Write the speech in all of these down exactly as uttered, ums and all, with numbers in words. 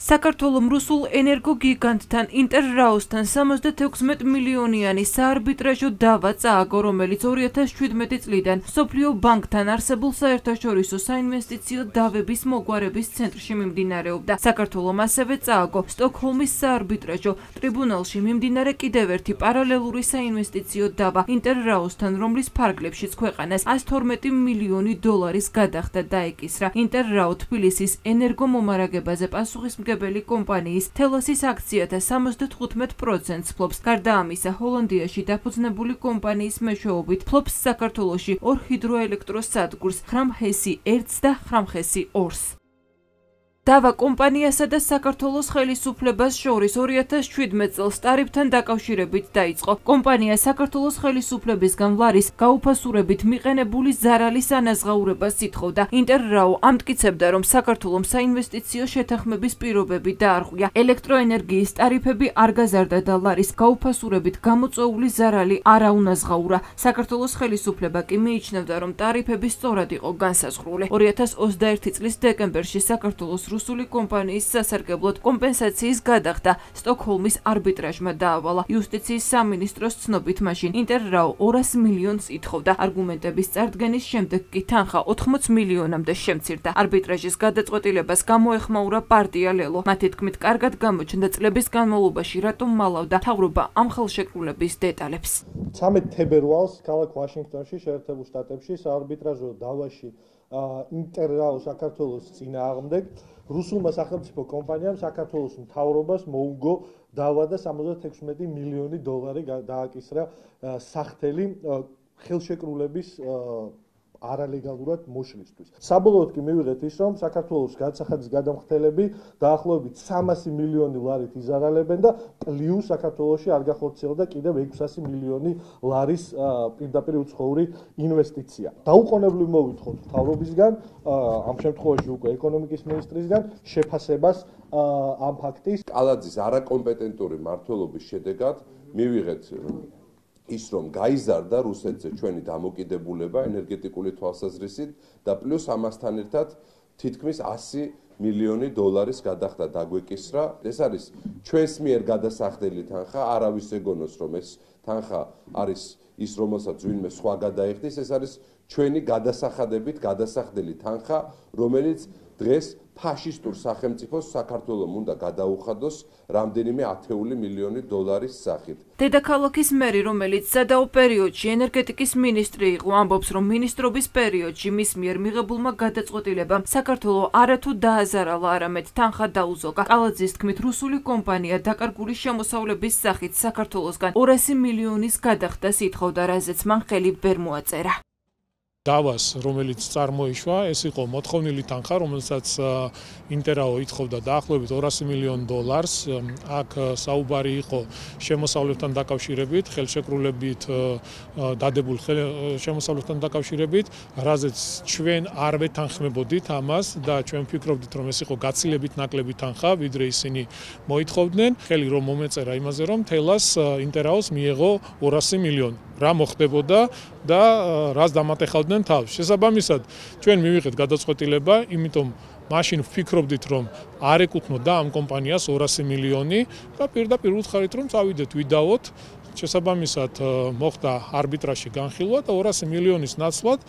საქართველოს რუსულ ენერგოგიგანტთან ინტერრაოსთან სამოცდათექვსმეტ მილიონიანი საარბიტრაჟო დავა წააგო, რომელიც ორი ათას შვიდმეტი წლიდან მსოფლიო ბანკთან არსებულ საერთაშორისო საინვესტიციო დავების მოგვარების ცენტრში მიმდინარეობდა. საქართველოს ასევე წააგო სტოკჰოლმის საარბიტრაჟო ტრიბუნალში მიმდინარე კიდევ ერთი პარალელური საინვესტიციო დავა ინტერრაოსთან, რომლის ფარგლებშიც ქვეყანას ას თორმეტი მილიონი დოლარის გადახდა დაეკისრა. ინტერრაო თბილისის ენერგომომარაგებაზე პასუხისმგებელი კომპანიის თელოსის აქციათა სამოცდათხუთმეტ პროცენტს ფლობს. გარდა ამისა, ჰოლანდიაში დაფუძნებული კომპანიის მეშვეობით ფლობს საქართველოში ორ ჰიდროელექტროსადგურს, ხრამჰესი ერთს და ხრამჰესი ორს. დავა კომპანიასა და საქართველოს ხელისუფლებას შორის ორი ათას შვიდმეტ წელს ტარიფთან დაკავშირებით დაიწყო. კომპანია საქართველოს ხელისუფლებისგან ლარის გაუფასურებით მიყენებული ზარალის ანაზღაურებას ითხოვდა. ინტერრაო ამტკიცებდა, რომ საქართველოს საინვესტიციო შეთანხმების პირობები დაარღვია. ელექტროენერგიის ტარიფები არ გაზარდა და ლარის გაუფასურებით გამოწვეული ზარალი არ აუნაზღაურა. საქართველოს ხელისუფლება კი მიიჩნევდა, რომ ტარიფები სწორად იყო განსაზღვრული. ორი ათას ოცდაერთი წლის დეკემბერში საქართველოს რუსული კომპანიის სასარგებლოდ კომპენსაციის გადახდა სტოკჰოლმის არბიტრაჟმა დაავალა. იუსტიციის სამინისტროს ცნობით მაშინ ინტერრაო ორას მილიონს ითხოვდა. არგუმენტების წარდგენის შემდეგ კი თანხა ოთხმოც მილიონამდე შემცირდა. არბიტრაჟის გადაწყვეტილებას გამოეხმაურა პარტია ლელო. მათი თქმით, კარგად გამოჩნდა წლების განმავლობაში, რატომ მალავდა მთავრობა ამ ხელშეკრულების დეტალებს. ცამეტ თებერვალს ქალაქ ვაშინგტონში, შეერთებულ შტატებში საარბიტრაჟო დავაში ინტერრაო საქართველოს წინააღმდეგ რუსულმა სახელმწიფო კომპანიამ საქართველოს მთავრობას მოუგო დავა და სამოცდათექვსმეტი მილიონი დოლარი დააკისრა სახთელი ხელშეკრულების არალეგალურად მოშლისთვის. საბოლოოდ კი მივიღეთ ის, რომ საქართველოს განსახადის გადამხდელები დაახლოებით სამასი მილიონი ლარით იზარალებენ და პლუს საქართველოში არ გახორციელდა კიდევ ექვსასი მილიონი ლარის პირდაპირ უცხოური ინვესტიცია. დაუყოვნებლივ მოვითხოვთ მთავრობისგან, ამ შემთხვევაში უკვე ეკონომიკის მინისტრისგან შეფასებას ამ ფაქტის. კალაძის არაკომპეტენტური მმართველობის შედეგად მივიღეთ ის, რომ გაიზარდა რუსეთზე ჩვენი დამოკიდებულება ენერგეტიკული თვალსაზრისით და პლუს ამასთან ერთად თითქმის ასი მილიონი დოლარის გადახდა დაგვეკისრა. ეს არის ჩვენს მიერ გადასახდელი თანხა, არავის ეგონოს, რომ ეს თანხა არის ის, რომელსაც ვინმე სხვა გადაიხდის, ეს არის ჩვენი გადასახადებით გადასახდელი თანხა, რომელიც დღეს ფაშისტურ სახელმწიფოს საქართველოს უნდა გადაუხადოს რამდენიმე ათეული მილიონი დოლარის სახით. დედაქალაქის მერი, რომელიც სადაო პერიოდში ენერგეტიკის მინისტრი იყო, ამბობს, რომ მინისტრობის პერიოდში მის მიერ მიღებულმა გადაწყვეტილებამ საქართველოს არათუ დააზარალა, არამედ თანხა დაუზოგა. კალაძის თქმით, რუსული კომპანია დაკარგული შემოსავლების სახით საქართველოსგან ორასი მილიონის გადახდას ითხოვდა, რაზეც მან ხელი ვერ მოაწერა. დავას, რომელიც წარმოიშვა, ეს იყო მოთხოვნილი თანხა, რომელსაც ინტერრაო ითხოვდა დაახლოებით ორასი მილიონ დოლარს. აქ საუბარი იყო შემოსავლებთან დაკავშირებით, ხელშეკრულებით დადებულ შემოსავლებთან დაკავშირებით, რაზეც ჩვენ არ ვეთანხმებოდით ამას და ჩვენ ვფიქრობდით, რომ ეს იყო გაცილებით ნაკლები თანხა, ვიდრე ისინი მოითხოვდნენ. ხელი რომ მომეწერა იმაზე, რომ თელას ინტერრაოს მიეღო ორასი მილიონი. რა მოხდებოდა და რას დამატეხავდნენ თავს. შესაბამისად, ჩვენ მივიღეთ გადაწყვეტილება, იმიტომ მაშინ ვფიქრობდით, რომ არ ეკუთვნოდა ამ კომპანიას ორასი მილიონი და პირდაპირ უთხარით, რომ წავიდეთ ვიდაოთ. შესაბამისად, მოხდა არბიტრაჟში განხილვა და ორასი მილიონის ნაცვლად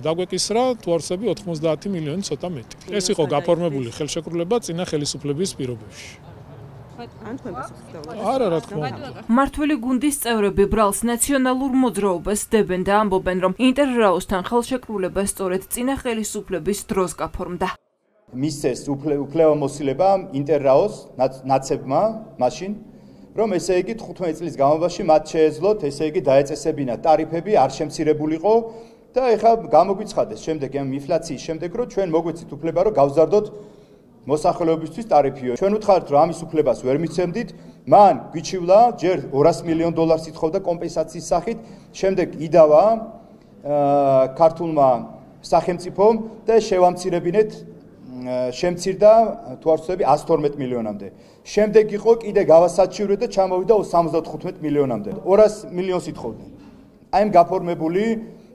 დაგვეკისრა თვარსები ოთხმოცდაათი მილიონი ცოტა მეტი. ეს იყო გაფორმებული ხელშეკრულება წინა ხელისუფლების პირობებში. არა, რა თქმა უნდა. მმართველი გუნდის წევრები ბრალს ნაციონალურ მოძრაობას დებენ და ამბობენ, რომ ინტერრაოსთან ხელშეკრულება სწორედ წინა ხელისუფლების დროს გაფორმდა. მისცეს უფლებამოსილება ინტერრაოს ნაცებმა მაშინ, რომ ესე იგი თხუთმეტი წლის განმავლობაში მათ შეეძლოთ, ესე იგი დაეწესებინათ ტარიფები, არ შემცირებულიყო და ეხლა გამოგვიცხადეს შემდეგ ამ ინფლაციის შემდეგ, რომ ჩვენ მოგვეცით უფლება, რომ გავზარდოთ მოსახლეობისთვის ტარიფიო. ჩვენ ვუთხართ, რომ ამის უფლებას ვერ მიცემდით, მან გვიჩივლა, ჯერ ორასი მილიონ დოლარს ითხოვდა კომპენსაციის სახით, შემდეგ იდავა ქართულმა სახელმწიფომ და შევამცირებინეთ, შემცირდა თვარსები ას თორმეტ მილიონამდე. შემდეგ იყო კიდე გავასაჩივრეთ და ჩამოვიდა სამოცდათხუთმეტ მილიონამდე. ორასი მილიონს ითხოვდნენ. აი ამ გაფორმებული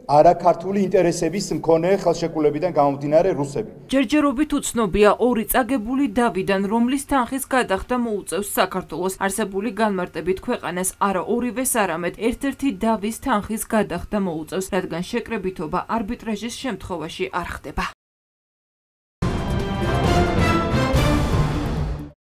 არაქართული ინტერესების მქონე ხელშეკრულებიდან გამომდინარე რუსები. ჯერჯერობით უცნობია ორი წაგებული დავიდან, რომლის თანხის გადახდა მოუწევს საქართველოს. არსებული განმარტებით ქვეყანას არა ორივეს, არამედ ერთ-ერთი დავის თანხის გადახდა მოუწევს, რადგან შეკრებითობა არბიტრაჟის შემთხვევაში არ ხდება.